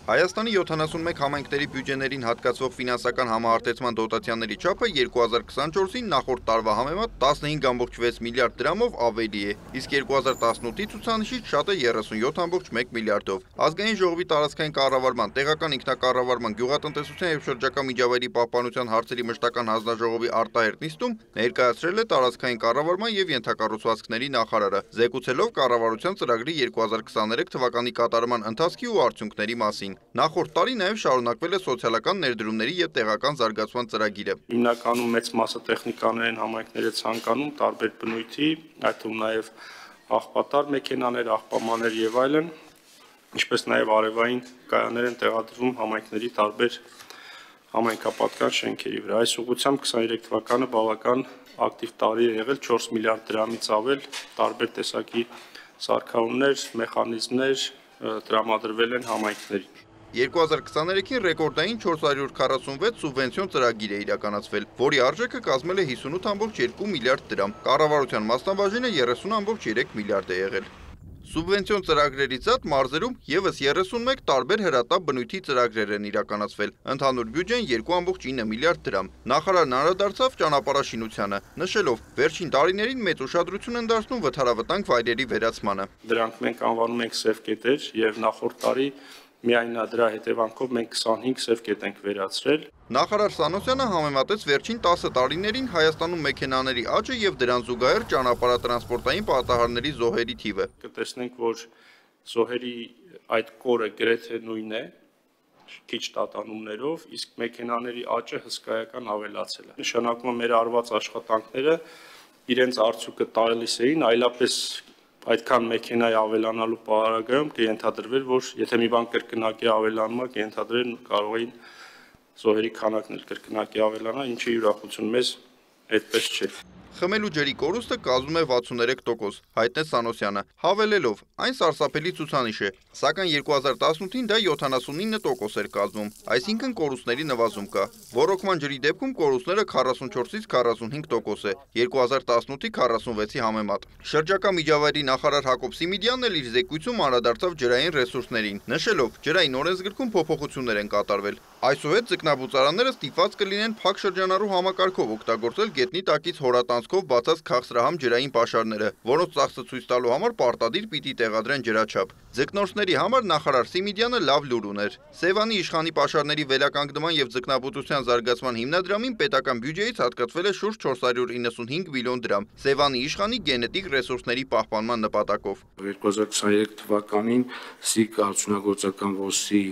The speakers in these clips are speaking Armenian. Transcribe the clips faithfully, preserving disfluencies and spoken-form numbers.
Հայաստանի յոթանասունմեկ համայնքների բյուջեներին հատկացվող ֆինանսական համահարտեցման դոտացիաների չափը երկու հազար քսանչորսին նախորդ տարվա համեմատ տասնհինգ կoma վեց միլիարդ դրամով ավելի է, իսկ երկու հազար տասնութի ցուցանիշից շատ է երեսունյոթ կoma մեկ միլիարդով։ Ազգային ժողովի տարածքային կառավարման, տեղական ինքնակառավարման, գյուղատնտեսության և շրջակա միջավայրի պահպանության հարցերի մշտական հանձնաժողովի արտահերտ նիստում ներկայացրել է տարածքային կառավարման և ենթակառուցվածքների նախարարը, զեկուցելով կառավարության ծրագրի երկու հազար քսաներեք թվականի կատարման ընթացքի ու արդյունքների մասին։ Նախորդ տարի նաև շարունակվել է սոցիալական ներդրումների և տեղական զարգացման ծրագիրը։ Հիմնականում մեծ մասը տեխնիկաներ են համայնքները ցանկանում, տարբեր բնույթի, այդ թվում նաև աղբատար մեքենաներ, աղբամաներ եւ այլն, ինչպես նաև արևային կայաններ են տեղադրվում համայնքների տարբեր համայնքապատկան շենքերի վրա։ Այս ուղղությամբ քսաներեք թվականը բավական ակտիվ տարի է եղել, չորս միլիարդ դրամից ավել տարբեր տեսակի սարքավորումներ, մեխանիզմներ տրամադրվել են համայնքներին։ երկու հազար քսաներեքին ռեկորդային չորս հարյուր քառասունվեց սուբվենցիոն ծրագիր է իրականացվել, որի արժեքը կազմել է հիսունութ կoma երկու միլիարդ դրամ, կառավարության մասնաբաժինը երեսուն կoma երեք միլիարդ է եղել։ Սուբվենցիոն ծրագրերից զատ մարզերում ևս երեսունմեկ տարբեր հրատապ բնույթի ծրագրեր են իրականացվել, ընդհանուր բյուջեն երկու կoma ինը միլիարդ դրամ։ Նախարարն անդրադարձավ ճանապարհաշինությանը, նշելով, վերջին տարիներին մեծ ուշադրություն են դարձնում վթարավտանգ վայրերի վերացմանը։ Դրանք մենք անվանում ենք սև կետեր եւ նախորդ տարի միայն դրա հետևանքով մենք քսանհինգ սև կետ ենք վերացրել։ Նախարար Սանոսյանը համեմատեց վերջին տասը տարիներին Հայաստանում մեքենաների աճը եւ դրան զուգահեռ ճանապարհատրանսպորտային պատահարների զոհերի թիվը։ Կտեսնենք, որ զոհերի այդ կորը գրեթե նույնն է, քիչ տատանումներով, իսկ մեքենաների աճը հսկայական ավելացել է։ Նշանակում է մեր արված աշխատանքները իրենց արդյունքը տալիս էին, այլապես այդքան մեքենայի ավելանալու պարագայում կենթադրվեր, որ եթե մի բան կրկնակի ավելանում է, կենթադրել կարող էին զոհերի քանակն էլ կրկնակի ավելանա, ինչը ուրախություն մեզ այդպես չէ։ Խմելու ջրի կորուստը կազմում է վաթսուններեք տոկոս, հայտնեց Սանոսյանը, հավելելով, այն սարսափելի ցուցանիշ է, սակայն երկու հազար տասնութին դա յոթանասունինը տոկոս էր կազմում, այսինքն կորուստների նվազում կա։ Ոռոգման ջրի դեպքում կորուստները քառասունչորսից քառասունհինգ տոկոս է, երկու հազար տասնութի քառասունվեցի համեմատ։ Շրջակա միջավայրի նախարար Հակոբ Սիմիդյանն էլ իր զեկույցում անդրադարձավ ջրային ռեսուրսներին, նշելով, ջրային օրենսգրքում փոփոխություններ են կատարվել։ Այսուհետ ձկնաբուծարանները ստիպված կլինեն փակ շրջանառու համակարգով օգտագործել գետնի տակից հորատանցքով բացած քաղցրահամ ջրային պաշարները, որոնց ծախսը ցույց տալու համար պարտադիր պիտի տեղադրեն ջրաչափ։ Ձկնորսների համար նախարար Սիմիդյանը լավ լուր ուներ։ Սևանի իշխանի պաշարների վերականգնման եւ ձկնաբուծության զարգացման հիմնադրամին պետական բյուջեից հատկացվել է շուրջ չորս հարյուր իննսունհինգ միլիոն դրամ Սևանի իշխանի գենետիկ ռեսուրսների պահպանման նպատակով։ երկու հազար քսաներեք թվականին ՍԻԳ արդյունագործական ոսի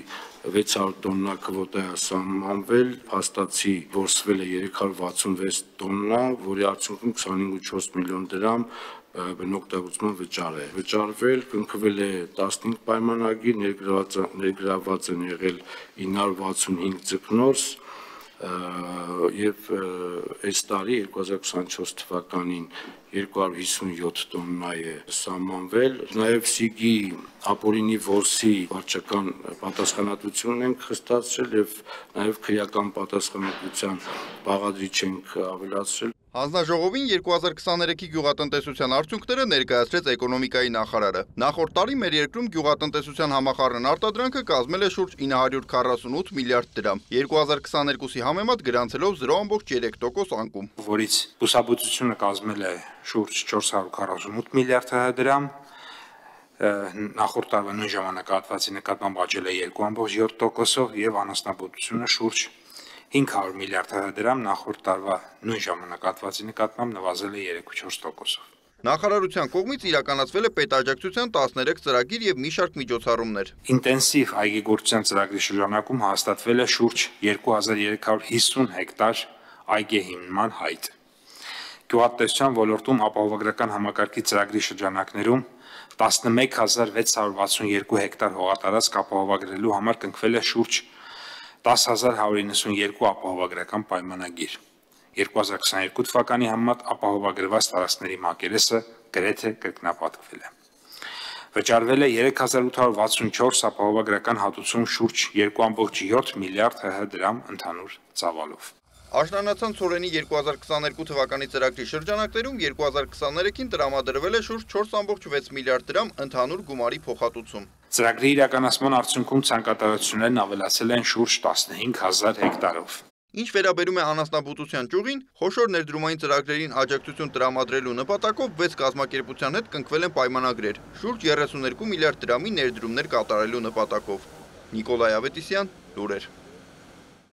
վեց հարյուր տոննա քվոտա է սահմանվել, փաստացի որսվել է երեք հարյուր վաթսունվեց տոննա, որի արդյունքում քսանհինգ կoma չորս միլիոն դրամ բնօգտագործման վճար է վճարվել, կնքվել է տասնհինգ պայմանագիր, ներգրաված են եղել ինը հարյուր վաթսունհինգ ձկնորս եւ այս տարի երկու հազար քսանչորս թվականին երկու հարյուր հիսունյոթ տոննա է սահմանվել, նաեւ ՍԻԳ-ի ապօրինի որսի վարչական պատասխանատվությունն ենք խստացրել եւ նաեւ քրեական պատասխանատվության բաղադրիչ ենք ավելացրել։ Հանձնաժողովին երկու հազար քսաներեքի գյուղատնտեսության արդյունքները ներկայացրեց էկոնոմիկայի նախարարը։ Նախորդ տարի մեր երկրում գյուղատնտեսության համախառն արտադրանքը կազմել է շուրջ ինը հարյուր քառասունութ միլիարդ դրամ, երկու հազար քսաներկուսի համեմատ գրանցելով զրո կoma երեք տոկոս անկում, որից բուսաբուծությունը կազմել է շուրջ չորս հարյուր քառասունութ միլիարդ դրամ, նախորդ տարվա նույն ժամանակահատվածի նկատմամբ աճել է երկու կoma յոթ տոկոսով եւ անասնաբուծությունը շուրջ հինգ հարյուր միլիարդ դրամ, նախորդ տարվա նույն ժամանակահատվածի նկատմամբ նվազել է երեք կoma չորս տոկոսով։ Նախարարության կողմից իրականացվել է պետաջակցության տասներեք ծրագիր եւ մի շարք միջոցառումներ։ Ինտենսիվ այգեգործության ծրագրի շրջանակում հաստատվել է շուրջ երկու հազար երեք հարյուր հիսուն հեկտար այգեհիմնման հայտ։ Գյուղատնտեսության ոլորտում ապահովագրական համակարգի ծրագրի շրջանակներում տասնմեկ հազար վեց հարյուր վաթսունյոթ հեկտար հողատարածք ապահովագրելու համար կնքվել է շուրջ տասը հազար հարյուր իննսունյոթ ապահովագրական պայմանագիր։ երկու հազար քսաներկու թվականի համեմատ ապահովագրված տարածքների մակերեսը գրեթե կրկնապատկվել է։ Վճարվել է երեք հազար ութ հարյուր վաթսունչորս ապահովագրական հատուցում շուրջ երկու կoma յոթ միլիարդ դրամ ընդհանուր ծավալով։ Աշնանացան ցորենի երկու հազար քսաներկու թվականի ծրագրի շրջանակներում երկու հազար քսաներեքին տրամադրվել է շուրջ չորս կόμք վեց միլիարդ դրամ ընդհանուր գումարի փոխհատուցում։ Ծրագրի իրականացման արդյունքում ցանկատարություններն ավելացել են շուրջ տասնհինգ հազար հեկտարով։ Ինչ վերաբերում է անասնաբուծության ճյուղին, խոշոր ներդրումային ծրագրերին աջակցություն տրամադրելու նպատակով վեց կազմակերպության հետ կնքվել են պայմանագրեր, շուրջ երեսունյոթ միլիարդ դրամի ներդրումներ կատարելու նպատակով։ Նիկոլայ Ավետիսյան, լուրեր։